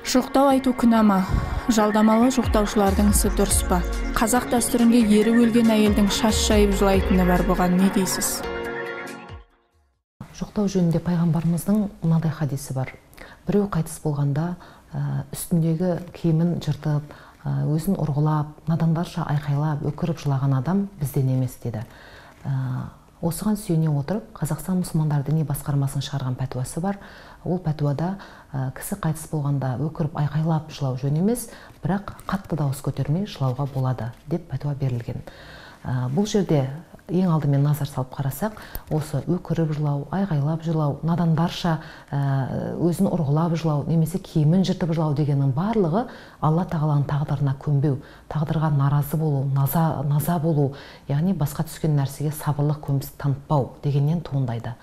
Жоқтау айту күнәма, жалдамалы жоқтаушылардың ісі дұрыс па? Қазақ дәстүрінде ері өлген әйелдің шаш жайып жылайтыны бар, бұған не дейсіз? Жоқтау жөнінде пайғамбарымыздың мынадай хадисі бар. Біреу қайтыс болғанда үстіндегі киімін жыртып, өзін ұрғылап, надандарша айқайлап, өкіріп жылаған адам бізден емес деді. Осыған сүйене отырып, Қазақстан мұсылмандар діни басқармасының шығарған пәтуасы бар. Ол пәтуада кісі қайтыс болғанда өкіріп айқайлап жылау жөн емес, бірақ қатты дауыс көтермей жылауға болады деп пәтуа берілген. Бұл жерде ең алдымен назар салып қарасақ, осы өкіріп жылау, айғайлап жылау, надандарша өзін ұрғылап жылау, немесе киімін жыртып жылау дегеннің барлығы Алла тағаланың тағдырына көнбеу, тағдырға наразы болу, наза болу, яғни басқа түскен нәрсеге сабырлық көміс танытпау дегеннен туындайды.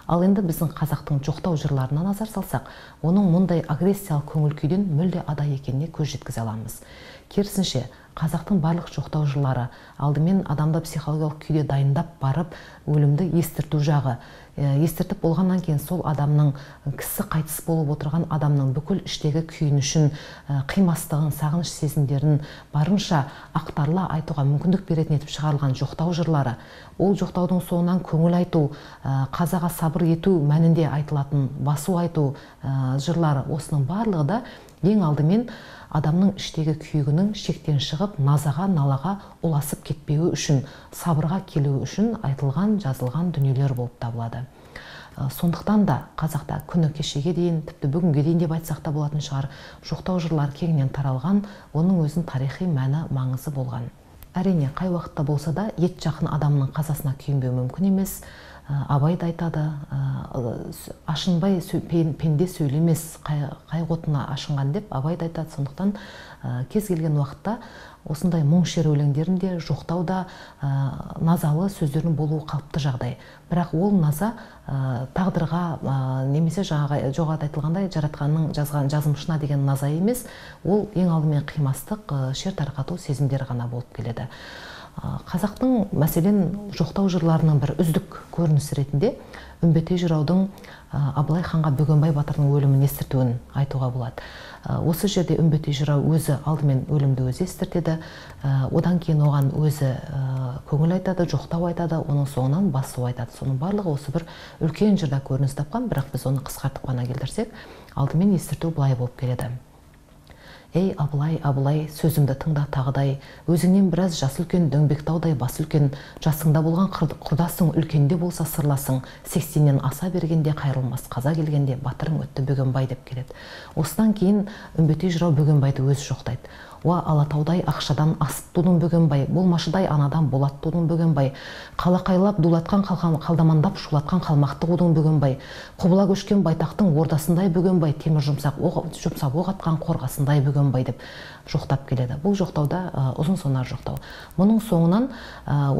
Ал енді біздің қазақтың жоқтау жырларына назар салсақ, оның мұндай агрессиялық көңіл күйден мүлде ада екеніне көз жеткізе аламыз. Керісінше, қазақтың барлық жоқтау жырлары алдымен адамды психологиялық күйде дайындап барып, өлімді естірту жағы. Естіртіп болғаннан кейін сол адамның, кісі қайтыс болып отырған адамның бүкіл іштегі күйінішін, қимастығын, сағыныш сезімдерін барынша ақтарыла айтуға мүмкіндік беретін етіп шығарылған жоқтау жырлары. Ол жоқтаудың соңынан көңіл айту, қазаға сабыр ету мәнінде айтылатын басу айту жырлары, осының барлығы да ең алдымен адамның іштегі күйігінің шектен шығып, назаға, налаға ұласып кетпеуі үшін, сабырға келуі үшін айтылған, жазылған дүниелер болып табылады. Сондықтан да қазақта күні кешеге дейін, тіпті бүгінге дейін деп айтсақ та болатын шығар, жоқтау жырлар кеңінен таралған, оның өзінің тарихи мәні, маңызы болған. Әрине, қай уақытта болса да, ет жақын адамның қазасына күйінбеу мүмкін емес. Абай да айтады, ашынбай пенде сөйлемес, қай отына ашынған деп Абай да айтады. Сондықтан кез келген уақытта осындай мұң шер өлеңдерінде жоқтауда назалы сөздердің болуы қалыпты жағдай. Бірақ ол наза тағдырға немесе жоғарыда айтылғандай жаратқанның жазған жазымышына деген наза емес, ол ең алдымен қимастық, шер тарқату сезімдері ғана болып келеді. Қазақтың мәселен жоқтау жырларының бір үздік көрінісі ретінде Үмбетей жыраудың Абылай ханға Бөгенбай батырдың өлімін естіртуін айтуға болады. Осы жерде Үмбетей жырау өзі алдымен өлімді өзі естіртеді, одан кейін оған өзі көңіл айтады, жоқтау айтады, оның соңынан басу айтады. Соның барлығы осы бір үлкен жырда көрініс тапқан, бірақ біз оны қысқартып қана келтірсек, алдымен естірту былай болып келеді. Ей Абылай, Абылай, сөзімді тыңда тағыдай, өзіңнен біраз жасы үлкен, дөңбектаудай басы үлкен, жасыңда болған құрдасың, үлкенде болса сырласың, 80-нен аса бергенде қайрылмас, қаза келгенде батырың өтті Бөгенбай деп келеді. Осыдан кейін Үмбетей жырау Бөгенбайды өзі жоқтайды. Уа Алатаудай ақшадан асып тудың Бөгенбай, болмашыдай анадан болат тудың Бөгенбай, қалақайлап дулатқан қалдамандап шулатқан қалмақты қудың Бөгенбай, құбыла көшкен байтақтың ордасындай Бөгенбай, темір жұмсап оқ атқан қорғасындай Бөгенбай деп жоқтап келеді. Бұл жоқтауда ұзын сонар жоқтау. Мұның соңынан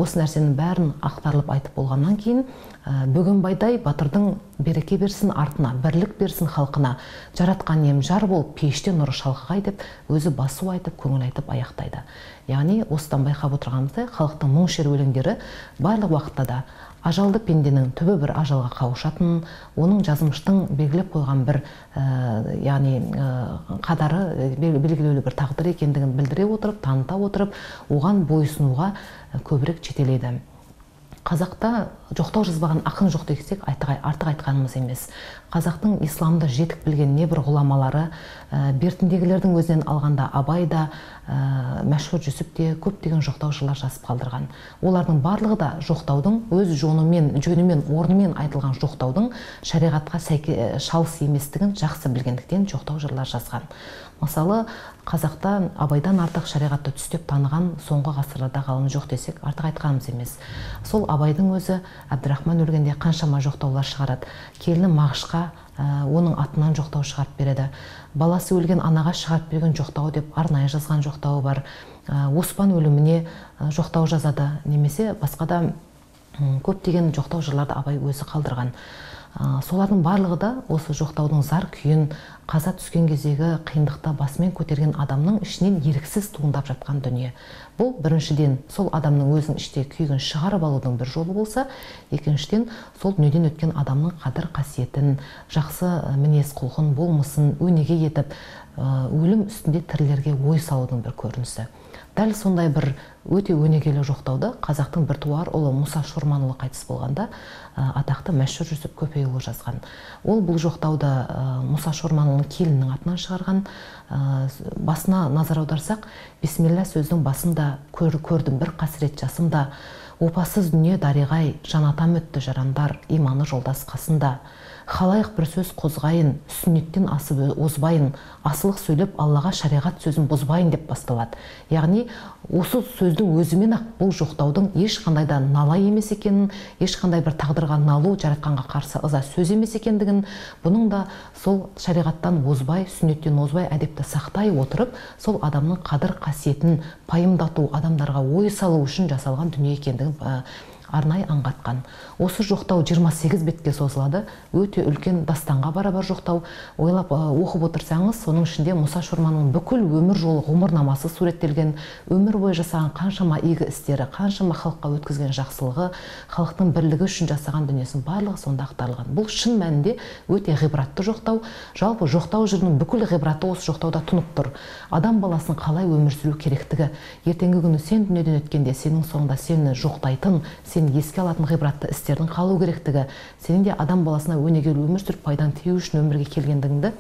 осы нәрсенің бәрін ақтарылып айтып болғаннан кейін Бөгенбайдай батырдың береке берсін артына, бірлік берсін халқына, жаратқан ем жар болып пейіште нұры шалқығай деп өзі басу айтып, көңіл айтып аяқтайды. Яғни осыдан байқап отырғанымыздай, халықтың мұң шер өлеңдері барлық уақытта да ажалды пенденің түбі бір ажалға қауышатын, оның жазмыштың белгілеп қойған бір қадары, белгілеулі бір тағдыр екендігін білдіре отырып, таныта отырып, оған бойсынуға көбірек жетелейді. Қазақта жоқтау жазбаған ақын жоқ десек артық айтқанымыз емес. Қазақтың исламды жетік білген небір ғұламалары, бертіндегілердің өзінен алғанда Абай да, Мәшһүр Жүсіп те көптеген жоқтау жырлар жазып қалдырған. Олардың барлығы да жоқтаудың өз жөнімен, орнымен айтылған жоқтаудың шариғатқа шалыс еместігін жақсы білгендіктен жоқтау жырлар жазған. Мысалы, қазақта Абайдан артық шариғатты түстеп таныған соңғы ғасырларда ғалым жоқ десек артық айтқанымыз емес. Сол Абайдың өзі Әбдірахман өлгенде қаншама жоқтаулар шығарады. Келіні Мағышқа оның атынан жоқтау шығарып береді. Баласы өлген анаға шығарып берген жоқтау деп арнайы жазған жоқтауы бар. Оспан өліміне жоқтау жазады, немесе басқа да көптеген жоқтау жырларды Абай өзі қалдырған. Солардың барлығы да осы жоқтаудың зар күйін, қаза түскен кездегі қиындықта басымен көтерген адамның ішінен еріксіз туындап жатқан дүние. Бұл біріншіден сол адамның өзінің іште күйігін шығарып алудың бір жолы болса, екіншіден сол дүниеден өткен адамның қадір қасиетін, жақсы мінез құлқын, болмысын өнеге етіп, өлім үстінде тірілерге ой салудың бір көрінісі. Дәл сондай бір өте өнегелі жоқтауды қазақтың біртуар ұлы Мұса Шорманұлы қайтыс болғанда атақты Мәшһүр Жүсіп Көпейұлы жазған. Ол бұл жоқтауды Мұса Шорманұлының келінінің атынан шығарған. Басына назар аударсақ, бисмилла сөздің басында көрдім бір қасірет жасымда, опасыз дүние дариғай, жанатам өтті жарандар, иманы жолдас қасында. Халайық бір сөз қозғайын, сүннеттен асып озбайын, асылық сөйлеп Аллаға шариғат сөзін бұзбайын деп басталады. Яғни осы сөздің өзімен-ақ бұл жоқтаудың ешқандай да налай емес екенін, ешқандай бір тағдырға налу, жаратқанға қарсы ыза сөз емес екендігін, бұның да сол шариғаттан озбай, сүннеттен озбай әдепті сақтай отырып, сол адамның қадір қасиетін пайымдату, адамдарға ой салу үшін жасалған дүние екендігін арнай аңғартқан. Осы жоқтау 28 бетке созылады. Өте үлкен дастанға барабар жоқтау. Ойлап оқып отырсаңыз, соның ішінде Мұса Шорманның бүкіл өмір жолы ғұмырнамасы суреттелген, өмір бойы жасаған қаншама игі істері, қаншама халыққа өткізген жақсылығы, халықтың бірлігі үшін жасаған дүниесінің барлығы сонда ақтарылған. Бұл шын мәнінде өте ғибратты жоқтау. Жалпы жоқтау жырының бүкіл ғибраты осы жоқтауда тұнып тұр. Адам баласын қалай өмір сүру керектігі, ертеңгі күні сен дүниеден өткенде сенің соңында сені жоқтайтын, сен еске алатын ғибратты істердің қалу керектігі, сенің де адам баласына өнегелі өмір сүріп пайдаң тию үшін өмірге келгендігіңді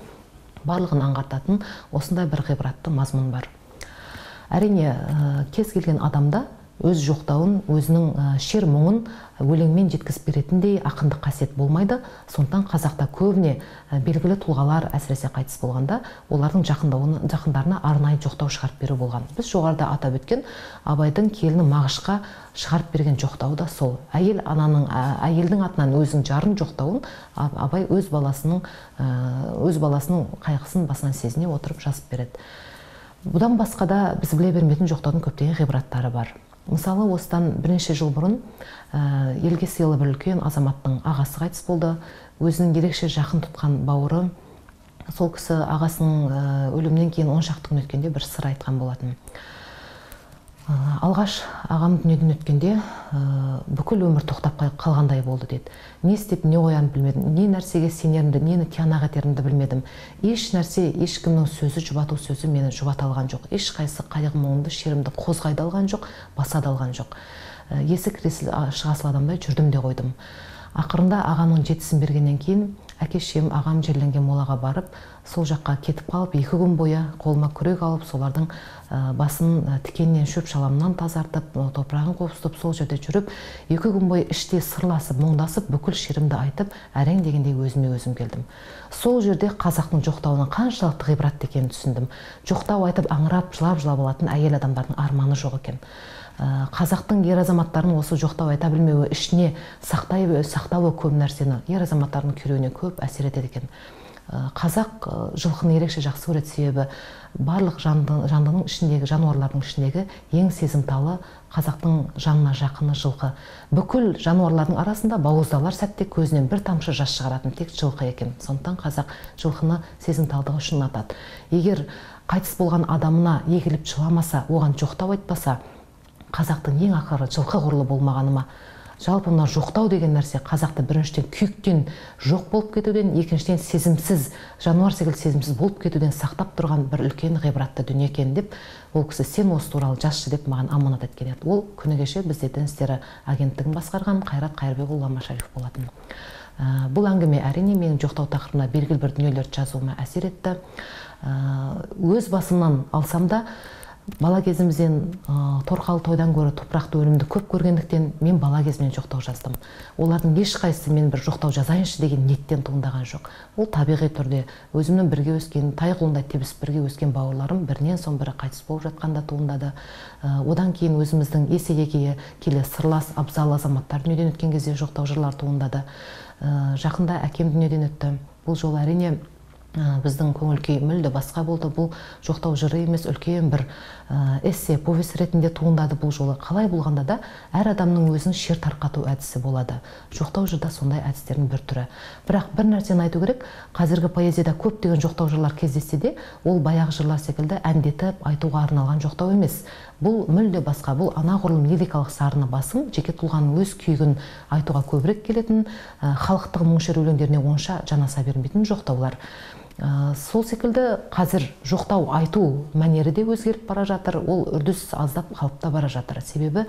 барлығын аңғартатын осындай бір ғибратты мазмұн бар. Әрине, кез келген адамда өз жоқтауын, өзінің шер мұңын өлеңмен жеткізіп беретіндей ақындық қасиет болмайды. Сондықтан қазақта көбіне белгілі тұлғалар әсіресе қайтыс болғанда, олардың жақындарына арнайы жоқтау шығарып беру болған. Біз жоғарыда атап өткен Абайдың келіні Мағышқа шығарып берген жоқтауы да сол. Әйелдің атынан өзінің жарын жоқтауын Абай өз баласының қайғысын басынан сезіне отырып жазып береді. Бұдан басқа да біз біле бермейтін жоқтаудың көптеген ғибраттары бар. Мысалы, осыдан бірнеше жыл бұрын елге сыйлы бір үлкен азаматтың ағасы қайтыс болды. Өзінің ерекше жақын тұтқан бауыры сол кісі ағасының өлімінен кейін 10 шақты күн өткенде бір сыр айтқан болатын. Алғаш ағам дүниеден өткенде бүкіл өмір тоқтап қалғандай болды деді. Не істеп, не қоянып білмедім, не нәрсеге сенерімді, нені тиянақ етерімді білмедім. Еш нәрсе, ешкімнің сөзі, жұбату сөзі мені жұбата алған жоқ. Ешқайсы қайғы мұңымды, шерімді қозғайды алған жоқ, баса да алған жоқ. Есік кіресіл шығасыл адамдай жүрдім де қойдым. Ақырында ағамның жетісін бергеннен кейін әке-шешем ағам жерленген молаға барып, сол жаққа кетіп қалып, 2 күн бойы қолыма күрек алып, солардың басын тікеннен шөп шаламнан тазартып, топырағын қопсытып, сол жерде жүріп, 2 күн бойы іште сырласып, мұңдасып, бүкіл шерімді айтып, әрең дегендей өзіме өзім келдім. Сол жерде қазақтың жоқтауының қаншалықты ғибратты екенін түсіндім. Жоқтау айтып, аңырап, жылап алатын әйел адамдардың арманы жоқ екен. Қазақтың ер азаматтарын осы жоқтау айта білмеуі, ішіне сақтауы көп нәрсені, ер азаматтардың күйреуіне көп әсер етеді екен. Қазақ жылқыны ерекше жақсы көреді, себебі барлық жандының ішіндегі, жануарлардың ішіндегі ең сезімталы қазақтың жанына жақыны жылқы. Бүкіл жануарлардың арасында бауыздалар сәтте көзінен бір тамшы жас шығаратын тек жылқы екен. Сондықтан қазақ жылқыны сезімталдығы үшін ұнатады. Егер қайтыс болған адамына егіліп жыламаса, оған жоқтау айтпаса, қазақтың ең ақыры жылқы құрлы болмағаны ма? Жалпы мына жоқтау деген нәрсе қазақты біріншіден күйіктен жоқ болып кетуден, екіншіден сезімсіз, жануар секілді сезімсіз болып кетуден сақтап тұрған бір үлкен ғибратты дүние екен деп, ол кісі сен осы туралы жазшы деп маған аманат еткен еді. Ол күні кеше бізде дін істері агенттігін басқарған Қайрат Қайырбекұлы Ламашариф болатын. Бұл әңгіме әрине менің жоқтау тақырыбына белгілі бір дүниелерді жазуыма әсер етті. Өз басымнан алсам да, бала кезімізден торқалы тойдан гөрі топырақты өлімді көп көргендіктен мен бала кезімнен жоқтау жаздым. Олардың ешқайсысы мен бір жоқтау жазайыншы деген ниеттен туындаған жоқ. Ол табиғи түрде өзімнің бірге өскен, тай құлындай тебісіп бірге өскен бауырларым бірінен соң бірі қайтыс болып жатқанда туындады. Одан кейін өзіміздің есейе келе сырлас, абзал азаматтар дүниеден өткен кезде жоқтау жырлар туындады. Жақында әкем дүниеден өтті. Бұл жолы әрине біздің көңіл күй мүлде басқа болды. Бұл жоқтау жыры емес, үлкен бір эссе, повесть ретінде туындады бұл жолы. Қалай болғанда да әр адамның өзінің шер тарқату әдісі болады. Жоқтау жырда сондай әдістердің бір түрі. Бірақ бір нәрсені айту керек, қазіргі поэзияда көптеген жоқтау жырлар кездессе де, ол баяғы жырлар секілді әндетіп айтуға арналған жоқтау емес. Бұл мүлде басқа, бұл анағұрлым лирикалық сарыны басым, жеке тұлғаның өз күйігін айтуға көбірек келетін, халықтық мұң шер өлеңдеріне онша жанаса бермейтін жоқтаулар. Сол секілді қазір жоқтау айту мәнері де өзгеріп бара жатыр, ол үрдіс аздап қалып та бара жатыр. Себебі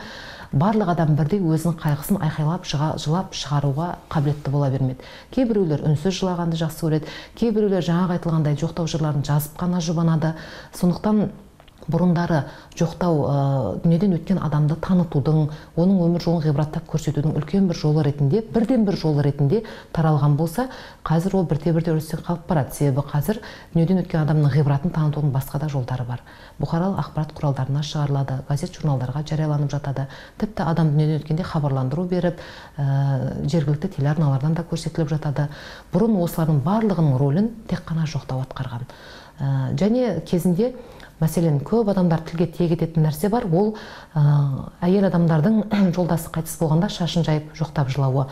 барлық адам бірдей өзінің қайғысын айқайлап, жылап шығаруға қабілетті бола бермеді. Кейбіреулер үнсіз жылағанды жақсы көреді, кейбіреулер жаңағы айтылғандай жоқтау жырларын жазып қана жұбанады. Сондықтан бұрындары жоқтау дүниеден өткен адамды танытудың, оның өмір жолын ғибраттап көрсетудің үлкен бір жолы ретінде, бірден бір жолы ретінде таралған болса, қазір ол бірте-бірте өрістен қалып барады. Себебі қазір дүниеден өткен адамның ғибратын танытудың басқа да жолдары бар. Бұқаралық ақпарат құралдарына шығарылады, газет журналдарға жарияланып жатады. Тіпті адам дүниеден өткенде хабарландыру беріп, жергілікті телеарналардан да көрсетіліп жатады. Бұрын осылардың барлығының рөлін тек қана жоқтау атқарған. Және кезінде мәселен, көп адамдар тілге тиек ететін нәрсе бар, ол әйел адамдардың жолдасы қайтыс болғанда шашын жайып жоқтап жылауы.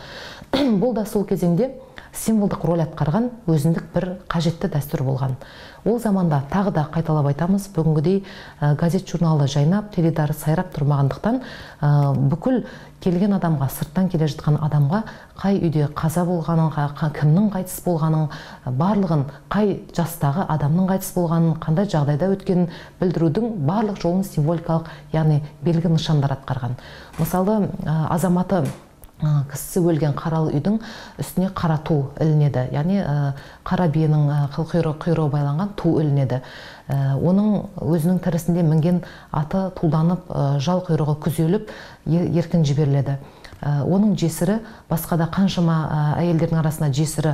Бұл да сол кезеңде символдық роль атқарған өзіндік бір қажетті дәстүр болған. Ол заманда тағы да қайталап айтамыз, бүгінгідей газет журналы жайнап, теледидары сайрап тұрмағандықтан, бүкіл келген адамға, сырттан келе жатқан адамға қай үйде қаза болғанын, кімнің қайтыс болғанын, барлығын, қай жастағы адамның қайтыс болғанын, қандай жағдайда өткенін білдірудің барлық жолын символикалық, яғни белгі нышандар атқарған. Мысалы, азаматы кісісі өлген қаралы үйдің үстіне қара ту ілінеді, яғни қара биенің құйрығы байланған ту ілінеді. Оның өзінің тірісінде мінген аты тулданып, жал құйрығы күзеліп, еркін жіберіледі. Оның жесірі, басқада қаншама әйелдердің арасында жесірі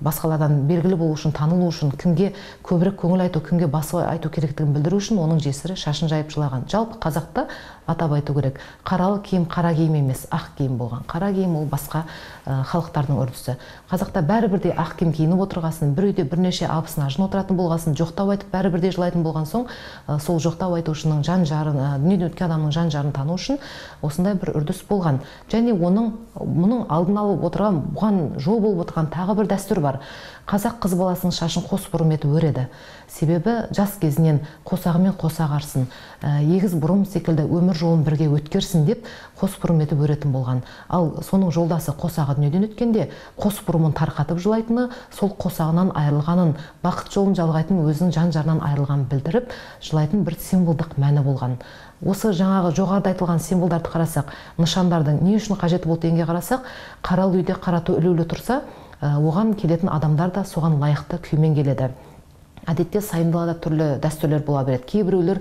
басқалардан белгілі болу үшін, танылу үшін, кімге көбірек көңіл айту, кімге басу айту керектігін білдіру үшін оның жесірі шашын жайып жылаған. Жалпы қазақта атап айту керек, қаралы киім қара киім емес, ақ киім болған. Қара киім ол басқа халықтардың үрдісі. Қазақта бәрібірде ақ киім киініп отырғасын, бір үйде бірнеше абысын ажын отыратын болғасын, жоқтау айтып бәрібірде жылайтын болған соң, сол жоқтау айтушының жан жарын, дүниеден өткен адамның жан жарын тану үшін осындай бір үрдіс болған. Және мұның алдын алып отырған, бұған жол болып отырған тағы бір дәстүр бар. Қазақ қыз баласының шашын қос бұрым етіп өреді. Себебі жас кезінен қосағымен қосақ арсын, егіз бұрым секілді өмір жолын бірге өткерсін деп қос бұрым етіп өретін болған. Ал соның жолдасы қосағы дүниеден өткенде қос бұрымын тарқатып жылайтыны, сол қосағынан айырылғанын, бақыт жолын жалғайтын өзінің жан жарынан айырылғанын білдіріп, жылайтын бір символдық мәні болған. Осы жаңағы жоғарыда айтылған символдарды қарасақ, нышандардың не үшін қажеті болды дегенге қарасақ, қаралы үйде қара ту ілулі тұрса, оған келетін адамдар да соған лайықты күймен келеді. Әдетте сайындалада түрлі дәстүрлер бола береді. Кейбіреулер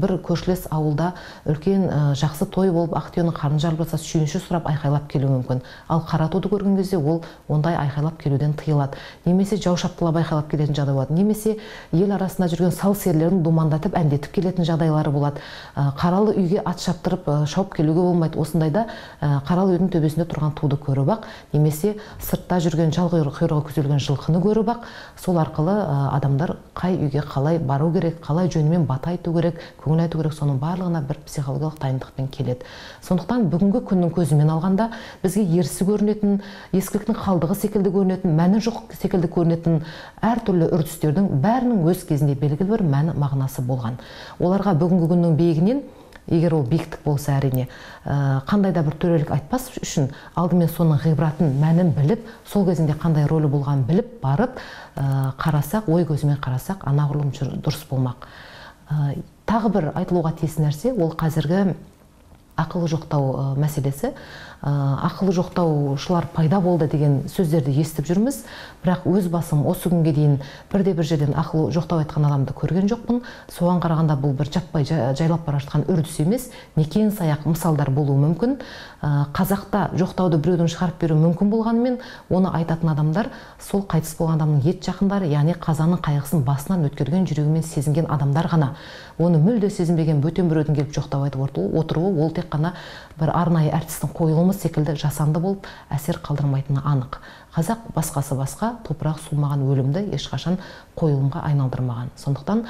бір көршілес ауылда үлкен жақсы той болып, ақтүйенің қарны жарылып жатса, сүйінші сұрап айқайлап келуі мүмкін. Ал қара туды көрген кезде ол ондай айқайлап келуден тыйылады. Немесе жау шаптылап айқайлап келетін жағдай болады. Немесе ел арасында жүрген сал серілерін думандатып, әндетіп келетін жағдайлары болады. Қаралы үйге ат шаптырып, шауып келуге болмайды. Осындайда қаралы үйдің төбесінде тұрған туды көріп ақ, немесе сыртта жүрген жал құйрығы күзелген жылқыны көріп ақ, сол арқылы адамдар қай үйге қалай бару керек, қалай жөнімен бата айту керек, көңіл айту керек, соның барлығына бір психологиялық дайындықпен келеді. Сондықтан бүгінгі күннің көзімен алғанда бізге ерсі көрінетін, ескіліктің қалдығы секілді көрінетін, мәні жоқ секілді көрінетін әртүрлі үрдістердің бәрінің өз кезінде белгілі бір мәні мағынасы болған. Оларға бүгінгі күннің биігінен, егер ол биіктік болса әрине, қандай да бір төрелік айтпас үшін алдымен соның ғибратын, мәнін біліп, сол кезінде қандай рөлі болғанын біліп, барып қарасақ, ой көзімен қарасақ, анағұрлым дұрыс болмақ. Тағы бір айтылуға тиіс нәрсе, ол қазіргі ақылы жоқтау мәселесі. Ақылы жоқтаушылар пайда болды деген сөздерді естіп жүрміз, бірақ өз басым осы күнге дейін бірде-бір жерден ақылы жоқтау айтқан адамды көрген жоқпын. Соған қарағанда бұл бір жаппай жайлап бара жатқан үрдіс емес, некен саяқ мысалдар болуы мүмкін. Қазақта жоқтауды біреудің шығарып беру мүмкін болғанымен, оны айтатын адамдар сол қайтыс болған адамның ет жақындары, яғни қазаның қайғысын басынан өткерген, жүрегімен сезінген адамдар ғана. Оны мүлде сезінбеген бөтен біреудің келіп жоқтау айтып отыруы, ол тек қана бір арнайы әртістің қойылымы секілді жасанды болып әсер қалдырмайтыны анық. қазақ басқасы басқа, топырақ сумаған өлімді ешқашан қойылымға айналдырмаған. Сондықтан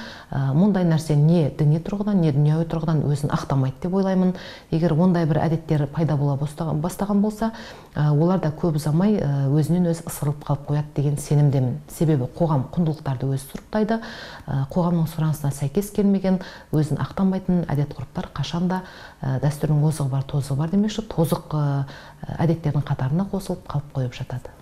мұндай нәрсе не діни тұрғыдан, не дүнияви тұрғыдан өзін ақтамайды деп ойлаймын. Егер ондай бір әдеттер пайда бола бастаған болса, олар да көп ұзамай өзінен өзі ысырылып қалып қояды деген сенімдемін. Себебі қоғам құндылықтарды өзі сұрыптайды, қоғамның сұранысына сәйкес келмеген, өзін ақтамайтын әдет-ғұрыптар қашанда дәстүрдің озығы бар, тозығы бар демекші, тозық әдеттердің қатарына қосылып қалып қойып жатады.